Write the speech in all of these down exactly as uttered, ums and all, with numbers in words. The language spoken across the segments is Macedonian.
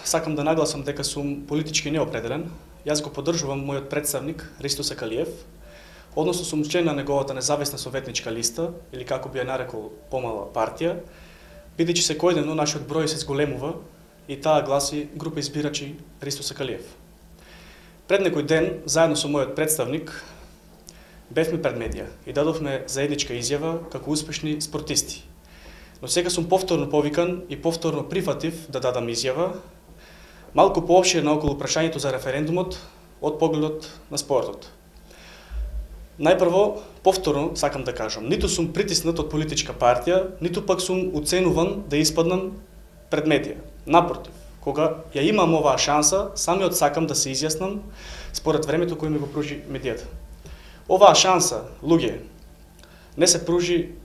Сакам да нагласам дека сум политички неопределен. Јас го поддржувам мојот представник Ристо Сакалиев, односно сум член на неговата независна советничка листа, или како би ја нарекол помала партија, бидејќи секојдневно нашиот број се зголемува и таа гласи група избирачи Ристо Сакалиев. Пред некој ден, заедно со мојот представник, бевме пред медија и дадовме заедничка изјава како успешни спортисти. Но сега сум повторно повикан и повторно прифатив да дадам изјава, малку поопширна околу прашањето за референдумот од погледот на спортот. Најпрво, повторно сакам да кажам, ниту сум притиснат од политичка партија, ниту пак сум уценуван да испаднам пред медија. Напротив, кога ја имам оваа шанса, самиот сакам да се изјаснам според времето кој ми го пружи медијата. Оваа шанса, луѓе, не се пружи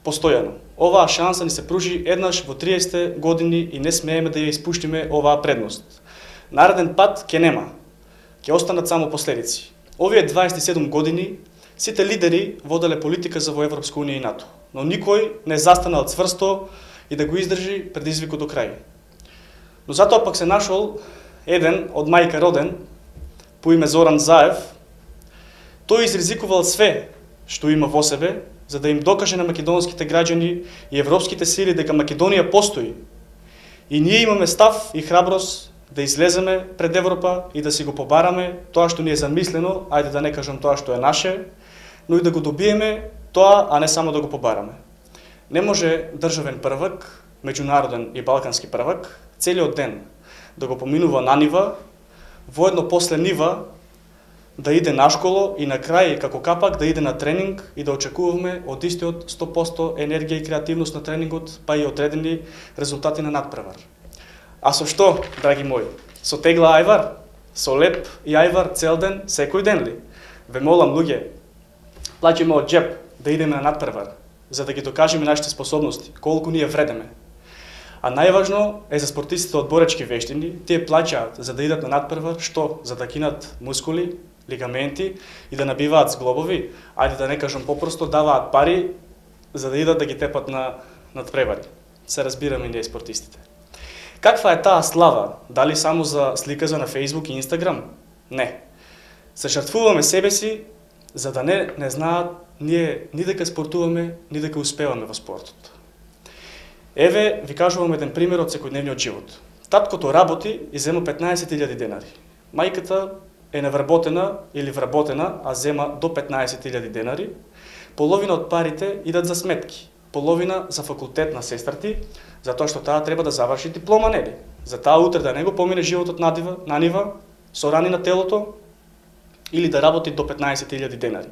постојано. Оваа шанса ни се пружи еднаш во триесетте години и не смееме да ја испуштиме оваа предност. Нареден пат ќе нема. Ќе останат само последици. Овие дваесет и седум години сите лидери воделе политика за во Европска унија и НАТО, но никој не застанал цврсто и да го издржи предизвикот до крај. Но затоа пак се нашол еден од мајка роден по име Зоран Заев. Тој изризикувал све што има во себе, за да им докаже на македонските граѓани и европските сили дека Македонија постои. И ние имаме став и храброст да излеземе пред Европа и да си го побараме тоа што ни е замислено, ајде да не кажам тоа што е наше, но и да го добиеме тоа, а не само да го побараме. Не може државен првак, меѓународен и балкански првак, целиот ден да го поминува на нива, воедно после нива да иде на школо и на крај како капак да иде на тренинг и да очекуваме од истиот сто проценти енергија и креативност на тренингот, па и одредени резултати на надпревар. А со што, драги мои? Со тегла ајвар? Со леп и ајвар цел ден, секој ден ли? Ве молам, луѓе, плаќаме од џеп да идеме на надпревар, за да ги докажеме нашите способности, колку ние вредеме. А најважно е за спортистите од боречки вештини, тие плаќаат за да идат на надпревар, што? За да кинат мускули, лигаменти и да набиваат зглобови, ајде да не кажам попросто, даваат пари за да идат да ги тепат на надпревари. Се разбираме и ние спортистите. Каква е таа слава? Дали само за слика за на Facebook и Instagram? Не. Се жртвуваме себе си за да не не знаат ние ни дека спортуваме, ни дека успеваме во спортот. Еве ви кажувам еден пример од секојдневниот живот. Таткото работи и зема петнаесет илјади денари. Мајката е невработена или вработена, а зема до петнаесет илјади денари. Половина од парите идат за сметки, половина за факултет на сестрати, затоа што таа треба да заврши диплома, нели? За таа утре да не го помине животот на нива, на нива, со рани на телото, или да работи до петнаесет илјади денари.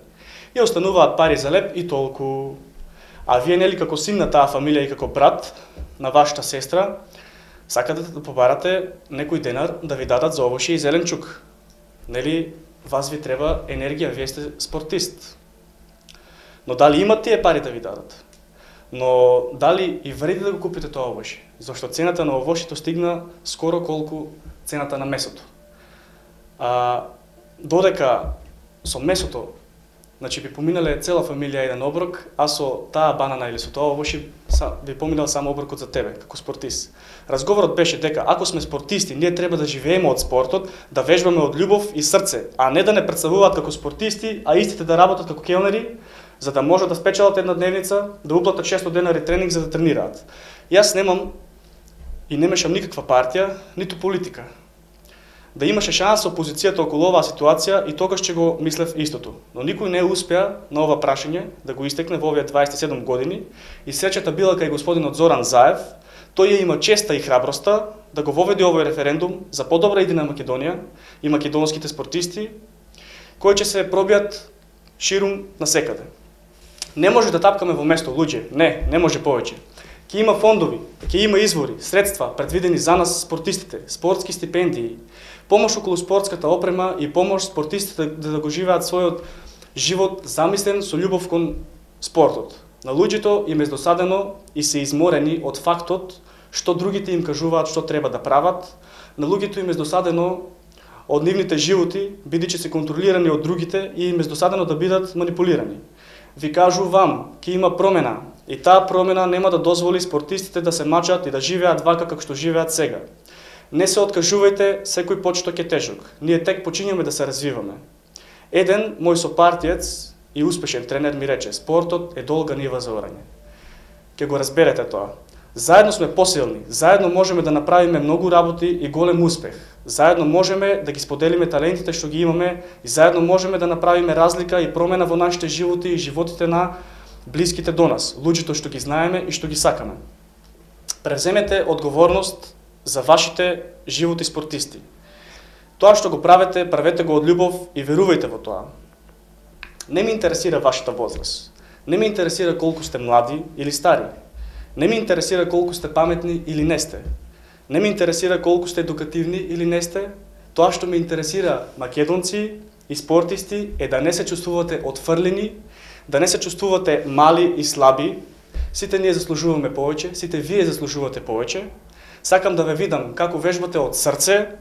И остануваат пари за леп и толку. А вие, нели, како син на таа фамилија и како брат на вашата сестра, сакате да побарате некој денар да ви дадат за овошје и зеленчук. Нели, вас ви треба енергија, вие сте спортист. Но дали имат тие пари да ви дадат? Но дали и вреди да го купите тоа овошје? Зашто цената на овошјето стигна скоро колку цената на месото. А, додека со месото, значи би поминале цела фамилија еден оброк, а со таа банана или со тоа овошје би поминал само оброкот за тебе, како спортист. Разговорот беше дека ако сме спортисти, ние треба да живееме од спортот, да вежбаме од љубов и срце, а не да не претставуваат како спортисти, а истите да работат како келнери, за да можат да спечелат една дневница, да уплатат шестстотини денари тренинг за да тренираат. Јас немам и не мешам никаква партија, ниту политика. Да имаше шанса опозицијата околу оваа ситуација и тогаш ќе го мислев истото. Но никој не успеа на ова прашање да го истекне во овие дваесет и седум години и среќата била кај господинот Зоран Заев. Тој ја има честа и храброста да го воведе овој референдум за подобра идеја на Македонија и македонските спортисти, кои ќе се пробијат ширум насекаде. Не може да тапкаме во место, луѓе. Не, не може повеќе. Ќе има фондови, ќе има извори, средства предвидени за нас спортистите, спортски стипендии, помош околу спортската опрема и помош спортистите да, да го живеат својот живот замислен со љубов кон спортот. На луѓето им е досадено и се изморени од фактот што другите им кажуваат што треба да прават. На луѓето им е досадено од нивните животи, бидејќи се контролирани од другите и им е досадено да бидат манипулирани. Ви кажувам, ќе има промена и таа промена нема да дозволи спортистите да се мачат и да живеат вака како што живеат сега. Не се откажувајте, секој почеток е тежок. Ние тек почињаме да се развиваме. Еден мој сопартиец и успешен тренер ми рече: спортот е долга нива за орање. Ке го разберете тоа. Заедно сме посилни, заедно можеме да направиме многу работи и голем успех. Заедно можеме да ги споделиме талентите што ги имаме и заедно можеме да направиме разлика и промена во нашите животи и животите на блиските до нас, луѓето што ги знаеме и што ги сакаме. Превземете одговорност за вашите животи спортисти. Тоа што го правите, правете го од љубов и верувајте во тоа. Не ме интересира вашата возраст. Не ме интересира колку сте млади или стари. Не ме интересира колку сте паметни или не сте. Не ме интересира колку сте едукативни или не сте. Тоа што ме интересира, македонци и спортисти, е да не се чувствувате отфрлени, да не се чувствувате мали и слаби. Сите ние заслужуваме повеќе, сите вие заслужувате повеќе. Сакам да ве видам како вежбате од срце,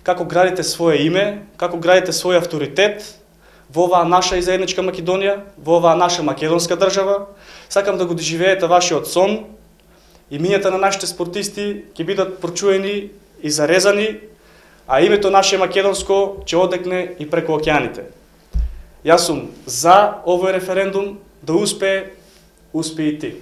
како градите свое име, како градите свој авторитет во оваа наша и заедничка Македонија, во оваа наша македонска држава. Сакам да го доживеете вашиот сон. Имињата на нашите спортисти ќе бидат прочуени и зарезани, а името наше македонско ќе одекне и преку океаните. Јас сум за овој референдум да успее, успее и ти.